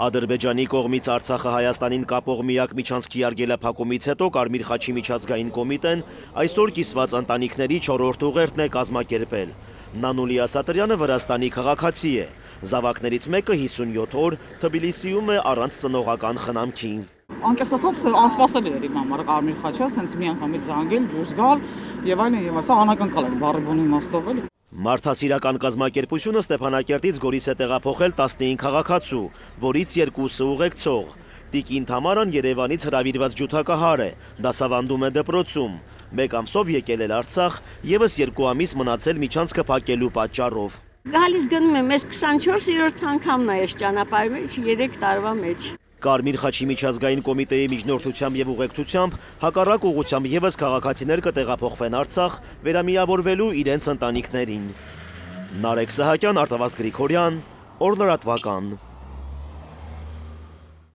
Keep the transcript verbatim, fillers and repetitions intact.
Ադրբեջանի կողմից Արցախը Հայաստանին կապող միակ միջանցքի արգելափակումից հետո Կարմիր խաչի միջազգային կոմիտեն այսօր կիսված ընտանիքների չորրորդ ուղերձն է կազմակերպել։ Նանուլի Ասատրյանը Վրաստանի քաղաքացի է։ Զավակներից մեկը հիսունյոթ օր Թբիլիսիում է առանց ծնողական խնամքի։ Անկեղծ ասած անսպասելի էր իմ համար Կարմիր խաչը, հենց մի անգամից զանգել, դուրս գալ եւ այլն եւ ասա անակնկալ էր բառի բունի իմաստով էլի։ Մարդասիրական կազմակերպությունը Ստեփանակերտից Գորիս է տեղափոխել տասնհինգ քաղաքացու, որից երկուսը ուղեկցող։ Տիկին Թամարան Երևանից հրավիրված ջութակահար է, դասավանդում է դպրոցում։ Մեկ ամսով եկել էր Արցախ, եւս երկու ամիս մնացել միջանցքը փակելու պատճառով։ Գալիս գնում եմ, ես քսանչորսերորդ անգամն է այս ճանապարհի մեջ երեք տարվա մեջ։ Կարմիր խաչի միջազգային կոմիտեի միջնորդությամբ եւ ուղեկցությամբ հակառակ ուղղությամբ եւս քաղաքացիներ կտեղափոխվեն Արցախ վերամիավորվելու իրենց ընտանիքներին։ Նարեկ Սահակյան, Արտավազդ Գրիգորյան, Օր լրատվական։